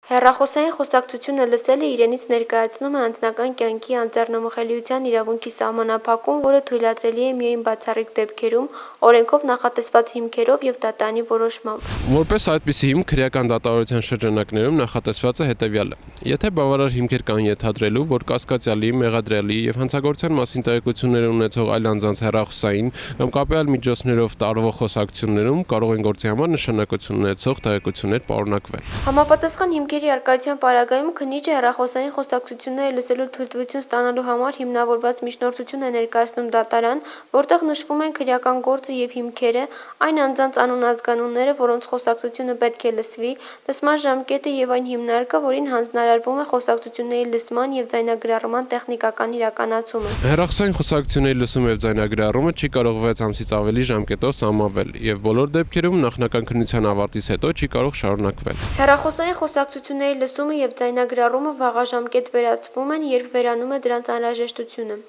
Հեռախոսային խոսակցությունը լսելը իրենից ներկայացնում է անձնական կյանքի անձեռնմխելիության իրավունքի սահմանափակում, որը թույլատրելի է միայն բացառիկ դեպքերում, օրենքով նախատեսված հիմքերով և դատարանի որոշմամբ։ Որպես այդպիսի հիմք քրեական դատավարության շրջանակներում նախատեսված է հետևյալը. եթե բավարար հիմքեր կան ենթադրելու, որ կասկածյալի, մեղադրյալի և հանցագործության մասին տեղեկություններ ունեցող այլ անձանց հեռախոսային կամ կապի այլ միջոցներով տարվող խոսակցություններում կարող են գործի համար նշանակություն ունեցող տեղեկություններ պարունակվել։ Համապատասխան հիմքերի առկայության պարագայում քննիչը հեռախոսային խոսակցությունները լսելու թույլտվություն ստանալու համար հիմնավորված միջնորդություն է ներկայացնում դատարան, որտեղ նշվում են քրեական գործը և հիմքերը, այն անձանց անուն-ազգանունները, որոնց խոսակցությունը պետք է լսվի, լսման ժամկետը և այն հիմնարկը, որին հանձնարարվում է խոսակցությունների լսման և ձայնագրառման տեխնիկական իրականացումը։ Հեռախոսային խոսակցությունների լսումը և ձայնագրառումը չի կարող 6 ամսից ավելի ժամկետով սահմանվել և բոլոր դեպքերում նախնական քննության ավարտից հետո չի կարող շարունակվել։ Հեռախոսային խոսակցությունների լսումը և ձայնագրառումը վաղաժամկետ վերացվում են, երբ վերանում է դրանց անհրաժեշտությունը։